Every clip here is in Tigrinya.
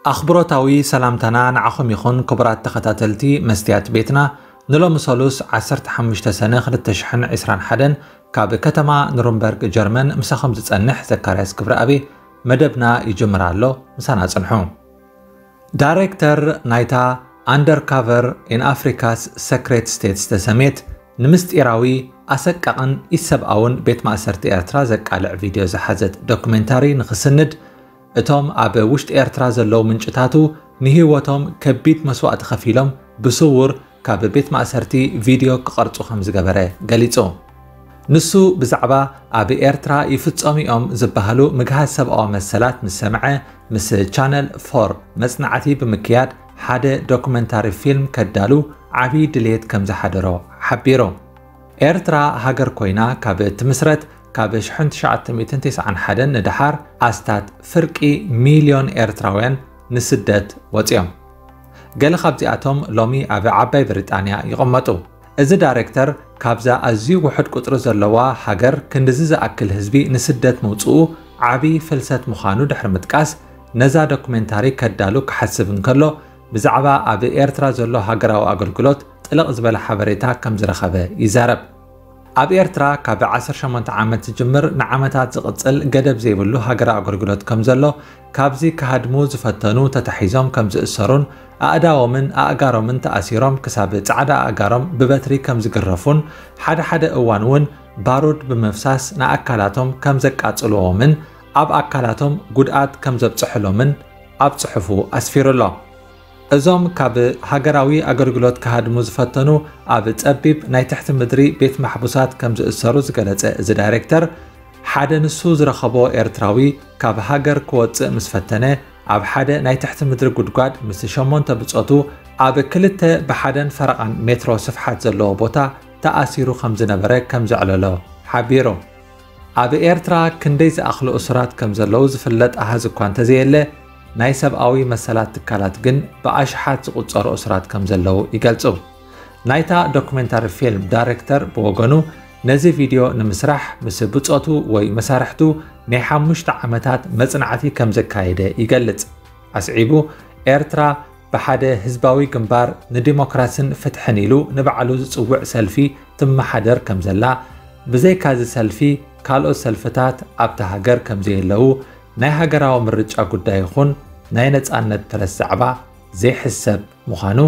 ኣኽብሮታዊ ሰላምታና ንዓኹም ይኹን ክቡራት ተኸታተልቲ መስትያት ቤትና። ንሎሚ ሰሉስ ዓሰርተ ሓሙሽተ ሰነ ክልተ ሽሕን ዕስራን ሓደን ካብ ከተማ ኑርንበርግ ጀርመን ምሳኹም ዝጸንሕ ዘካርያስ ክብረኣብ መደብና ይጅምር ኣሎ። ምሳና ጽንሑ። ዳይሬክተር ናይታ Undercover in Africa's Secret States ዝተሰምየት ንምስጢራዊ ኣሰቃቕን ኢሰብኣውን ቤት ማእሰርቲ ኤርትራ ዘቃልዕ ቪድዮ ዝሓዘት ዶክሜንታሪ ንኽስንድ እቶም ኣብ ውሽጢ ኤርትራ ዘለዉ ምንጭታቱ ንህይወቶም ከቢድ መስዋእቲ ከፊሎም ብስውር ካብ ቤት ማእሰርቲ ቪድዮ ክቐርጹ ከም ዝገበረ ገሊጹ። ንሱ ብዛዕባ ኣብ ኤርትራ ይፍጸሙ እዮም ዝበሃሉ ምግሃስ ሰብኣዊ መሰላት ምስ ሰምዐ፣ ምስ ቻነል ፎር መጽናዕቲ ብምክያድ ሓደ ዶኩመንታሪ ፊልም ከዳሉ ዓቢ ድልየት ከም ዝሓደሮ ሓቢሩ። ኤርትራ ሃገር ኮይና ካብ ትምስረት ካብ ሽሕን ትሽዓተ ሚእትን ተስዓን ሓደን ንደሓር ኣስታት ፍርቂ ሚልዮን ኤርትራውያን ንስደት ወጺኦም። ገለ ካብዚኣቶም ሎሚ ኣብ ዓባይ ብሪጣንያ ይቕመጡ። እዚ ዳይሬክተር ካብዛ ኣዝዩ ውሑድ ቁጽሪ ዘለዋ ሃገር ክንድዚ ዝኣክል ህዝቢ ንስደት ምውጽኡ ዓቢ ፍልሰት ምዃኑ ድሕሪ ምጥቃስ፣ ነዛ ዶኩሜንታሪ ከዳሉ ክሓስብ እንከሎ፣ ብዛዕባ ኣብ ኤርትራ ዘሎ ሃገራዊ ኣገልግሎት ጥልቕ ዝበለ ሓበሬታ ከም ዝረኸበ ይዛረብ። ኣብ ኤርትራ ካብ ዓሰርተ ሸሞንተ ዓመት ዝጅምር ንዓመታት ዝቕጽል ገደብ ዘይብሉ ሃገራዊ ኣገልግሎት ከም ዘሎ፣ ካብዚ ክሃድሙ ዝፈተኑ ተታሒዞም ከም ዝእሰሩን ኣእዳዎምን ኣእጋሮምን ተኣሲሮም ክሳብ ጻዕዳ ኣእጋሮም ብበትሪ ከም ዝግረፉን ሓደ ሓደ እዋን እውን ባሩድ ብምፍሳስ ንኣካላቶም ከም ዘቃጽልዎምን ኣብ ኣካላቶም ጉድኣት ከም ዘብጽሕሎምን ኣብ ጽሑፉ ኣስፊሩ ኣሎ። እዞም ካብ ሃገራዊ ኣገልግሎት ክሃድሙ ዝፈተኑ ኣብ ጸቢብ ናይ ትሕቲ ምድሪ ቤት ማሕቡሳት ከም ዝእሰሩ ዝገለጸ እዚ ዳይሬክተር፣ ሓደ ንሱ ዝረኸቦ ኤርትራዊ ካብ ሃገር ክወጽእ ምስ ፈተነ ኣብ ሓደ ናይ ትሕቲ ምድሪ ጉድጓድ ምስ ሸሞንተ ብጾቱ ኣብ ክልተ ብሓደን ፈረቓን ሜትሮ ስፍሓት ዘለዎ ቦታ ተኣሲሩ ከም ዝነበረ ከም ዘዕለሎ ሓቢሩ። ኣብ ኤርትራ ክንደይ ዝኣኽሉ እሱራት ከም ዘለዉ ዝፍለጥ ኣሃዝ እኳ እንተዘየለ፣ ናይ ሰብኣዊ መሰላት ትካላት ግን ብኣሽሓት ዝቑጸሩ እሱራት ከም ዘለዉ ይገልጹ። ናይታ ዶኩሜንታሪ ፊልም ዳይሬክተር ብወገኑ፣ ነዚ ቪድዮ ንምስራሕ ምስ ብጾቱ ወይ መሳርሕቱ ናይ ሓሙሽተ ዓመታት መጽናዕቲ ከም ዘካየደ ይገልጽ። ኣስዒቡ፣ ኤርትራ ብሓደ ህዝባዊ ግንባር ንዲሞክራስን ፍትሕን ኢሉ ንባዕሉ ዝጽውዕ ሰልፊ ትመሓደር ከም ዘላ፣ ብዘይካዚ ሰልፊ ካልኦት ሰልፍታት ኣብታ ሃገር ከም ዘየለዉ፣ ናይ ሃገራዊ ምርጫ ጉዳይ ይኹን ናይ ነጻነት ፕረስ ዛዕባ ዘይሕሰብ ምዃኑ፣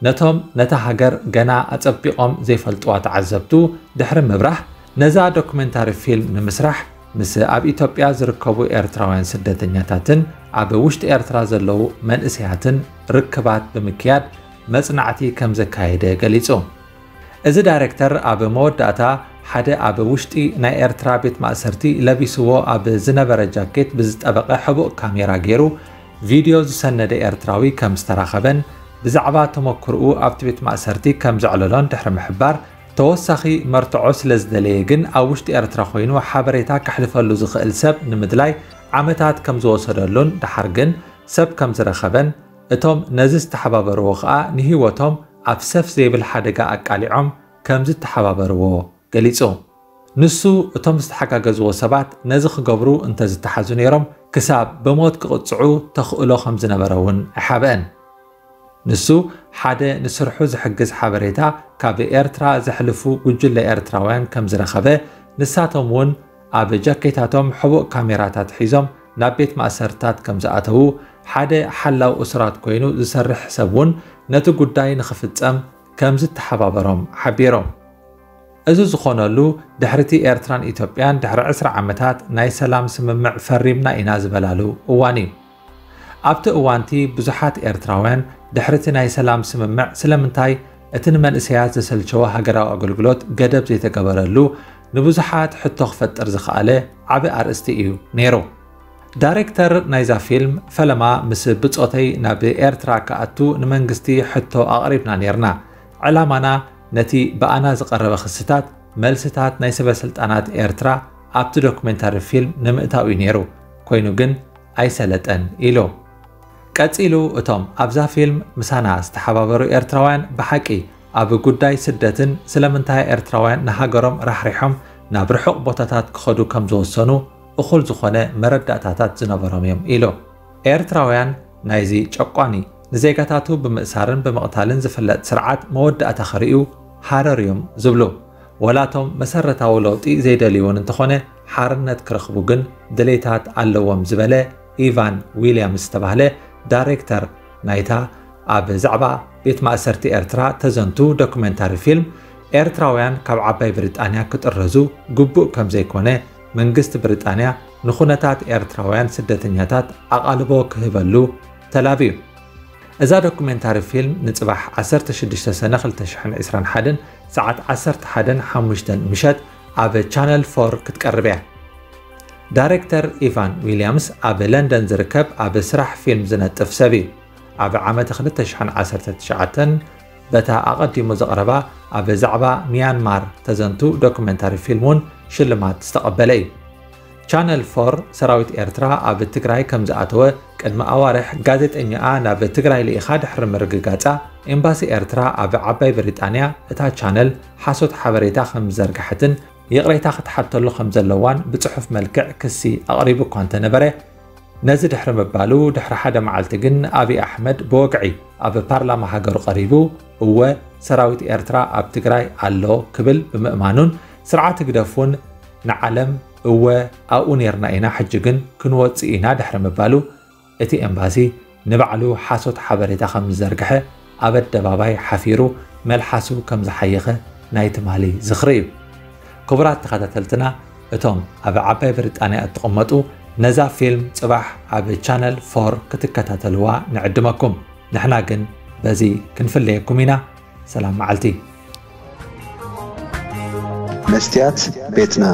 ነቶም ነታ ሃገር ገና ኣጸቢቖም ዘይፈልጥዋ ተዓዘብቱ ድሕሪ ምብራህ፣ ነዛ ዶኩሜንታሪ ፊልም ንምስራሕ ምስ ኣብ ኢትዮጵያ ዝርከቡ ኤርትራውያን ስደተኛታትን ኣብ ውሽጢ ኤርትራ ዘለዉ መንእሰያትን ርክባት ብምክያድ መጽናዕቲ ከም ዘካየደ ገሊጹ። እዚ ዳይሬክተር ኣብ መወዳእታ ሓደ ኣብ ውሽጢ ናይ ኤርትራ ቤት ማእሰርቲ ለቢስዎ ኣብ ዝነበረ ጃኬት ብዝጠበቐ ሕቡእ ካሜራ ገይሩ ቪድዮ ዝሰነደ ኤርትራዊ ከም ዝተራኸበን ብዛዕባ ተመክርኡ ኣብቲ ቤት ማእሰርቲ ከም ዘዕለሎን ድሕሪ ምሕባር፣ ተወሳኺ መርትዖ ስለ ዝደለየ ግን ኣብ ውሽጢ ኤርትራ ኮይኑ ሓበሬታ ከሕልፈሉ ዝኽእል ሰብ ንምድላይ ዓመታት ከም ዝወሰደሉን ደሓር ግን ሰብ ከም ዝረኸበን፣ እቶም ነዚ ዝተሓባበርዎ ከኣ ንህይወቶም ኣብ ሰፍ ዘይብል ሓደጋ ኣቃሊዖም ከም ዝተሓባበርዎ ገሊጹ። ንሱ እቶም ዝተሓጋገዝዎ ሰባት ነዚ ክገብሩ እንተዝተሓዙ ነይሮም ክሳብ ብሞት ክቕጽዑ ተኽእሎ ከም ዝነበረ እውን ኣይሓብአን። ንሱ ሓደ ንስርሑ ዝሕግዝ ሓበሬታ ካብ ኤርትራ ዘሕልፉ ጉጅለ ኤርትራውያን ከም ዝረኸበ፣ ንሳቶም እውን ኣብ ጃኬታቶም ሕቡእ ካሜራታት ሒዞም ናብ ቤት ማእሰርታት ከም ዝኣተዉ፣ ሓደ ሓላው እሱራት ኮይኑ ዝሰርሕ ሰብ እውን ነቲ ጉዳይ ንኽፍጸም ከም ዝተሓባበሮም ሓቢሮም። እዚ ዝኾነሉ ድሕሪቲ ኤርትራን ኢትዮጵያን ድሕሪ ዕስራ ዓመታት ናይ ሰላም ስምምዕ ፈሪምና ኢና ዝበላሉ እዋን እዩ። ኣብቲ እዋንቲ ብዙሓት ኤርትራውያን ድሕሪቲ ናይ ሰላም ስምምዕ ስለምንታይ እቲ ንመንእሰያት ዘሰልቸወ ሃገራዊ ኣገልግሎት ገደብ ዘይተገበረሉ ንብዙሓት ሕቶ ክፈጥር ዝኸኣለ ዓቢ ኣርእስቲ እዩ ነይሩ። ዳይሬክተር ናይዛ ፊልም፣ ፈለማ ምስ ብጾተይ ናብ ኤርትራ ክኣቱ ንመንግስቲ ሕቶ ኣቕሪብና ኔርና። ዕላማና ነቲ ብኣና ዝቐረበ ክስታት፣ መልስታት ናይ ሰበ ስልጣናት ኤርትራ ኣብቲ ዶክሜንታሪ ፊልም ንምእታው እዩ ኔሩ። ኮይኑ ግን ኣይሰለጠን ኢሉ። ቀጺሉ፣ እቶም ኣብዛ ፊልም ምሳና ዝተሓባበሩ ኤርትራውያን ብሓቂ ኣብ ጉዳይ ስደትን ስለምንታይ ኤርትራውያን ንሃገሮም ራሕሪሖም ናብ ርሑቕ ቦታታት ክኸዱ ከም ዝወሰኑ እኹል ዝኾነ መረዳእታታት ዝነበሮም እዮም ኢሉ። ኤርትራውያን ናይዚ ጨቋኒ ንዜጋታቱ ብምእሳርን ብምቕታልን ዝፍለጥ ስርዓት መወዳእታ ክርእዩ ሃረር እዮም ዝብሉ። ወላቶም መሰረታዊ ለውጢ ዘይደልዩ እውን እንተኾነ ሓርነት ክረኽቡ ግን ድሌታት ኣለዎም ዝበለ ኢቫን ዊልያምስ ዝተባህለ ዳይሬክተር ናይታ ኣብ ዛዕባ ቤት ማእሰርቲ ኤርትራ ተዘንቱ ዶክሜንታሪ ፊልም፣ ኤርትራውያን ካብ ዓባይ ብሪጣንያ ክጥረዙ ግቡእ ከም ዘይኮነ መንግስቲ ብሪጣንያ ንኹነታት ኤርትራውያን ስደተኛታት ኣቓልቦ ክህበሉ ተላብዩ። እዛ ዶኩሜንታሪ ፊልም ንጽባሕ ዓሰርተ ሽዱሽተ ሰነ ክልተ ሽሕን ዕስራን ሓደን ሰዓት ዓሰርተ ሓደን ሓሙሽተን ምሸት ኣብ ቻነል ፎር ክትቀርብ እያ። ዳይሬክተር ኢቫን ዊልያምስ ኣብ ለንደን ዝርከብ ኣብ ስራሕ ፊልም ዝነጥፍ ሰብ እዩ። ኣብ ዓመት ክልተ ሽሕን ዓሰርተ ትሽዓተን በታ ኣቐዲሙ ዘቕረባ ኣብ ዛዕባ ሚያንማር ተዘንቱ ዶኩሜንታሪ ፊልም እውን ሽልማት ዝተቐበለ እዩ። ቻነል ፎር ሰራዊት ኤርትራ ኣብ ትግራይ ከም ዝኣተወ ቅድሚ ኣዋርሕ ጋዜጠኛኣ ናብ ትግራይ ልኢኻ ድሕሪ ምርግጋጻ፣ ኤምባሲ ኤርትራ ኣብ ዓባይ ብሪጣንያ እታ ቻነል ሓሶት ሓበሬታ ከም ዝዘርግሐትን ይቕሬታ ክትሓተሉ ከም ዘለዋን ብጽሑፍ መልክዕ ክሲ ኣቕሪቡ እኳ እንተነበረ፣ ነዚ ድሕሪ ምባሉ ድሕሪ ሓደ መዓልቲ ግን ኣብይ ኣሕመድ ብወግዒ ኣብ ፓርላማ ሃገሩ ቀሪቡ፣ እወ ሰራዊት ኤርትራ ኣብ ትግራይ ኣሎ ክብል ብምእማኑን ስርዓት ህግደፍ እውን ንዓለም እወ ኣብኡ ኔርና ኢና፣ ሕጂ ግን ክንወጽእ ኢና ድሕሪ ምባሉ፣ እቲ ኤምባሲ ንባዕሉ ሓሶት ሓበሬታ ከም ዝዘርግሐ ኣብ ኣደባባይ ሓፊሩ መልሓሱ ከም ዝሓየኸ ናይ ትማሊ ዝኽሪ እዩ። ክቡራት ተኸታተልትና፣ እቶም ኣብ ዓባይ ብሪጣንያ እትቕመጡ ነዛ ፊልም ጽባሕ ኣብ ቻነል ፎር ክትከታተልዋ ንዕድመኩም። ንሕና ግን በዚ ክንፍለየኩም ኢና። ሰላም መዓልቲ። መስትያት ቤትና።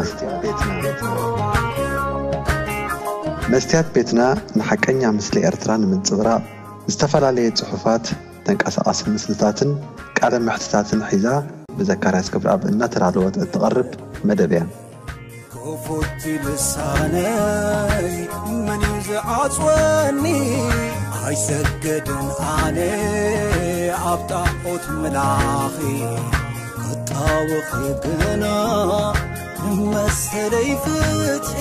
መስትያት ቤትና ንሓቀኛ ምስሊ ኤርትራ ንምንጽብራቕ ዝተፈላለየ ጽሑፋት፣ ተንቀሳቓሲ ምስልታትን ቃለ መሕትታትን ሒዛ ብዘካርያስ ክብረኣብ እናተዳለወት እትቐርብ መደብ እያ። ክፉት ልሳነይ መን እዩ ዝዓጽወኒ? ኣይሰገድን ኣነ ኣብ ጣዖት ምላኺ ክጣወኺ ግና ንመሰለይ ፍትሒ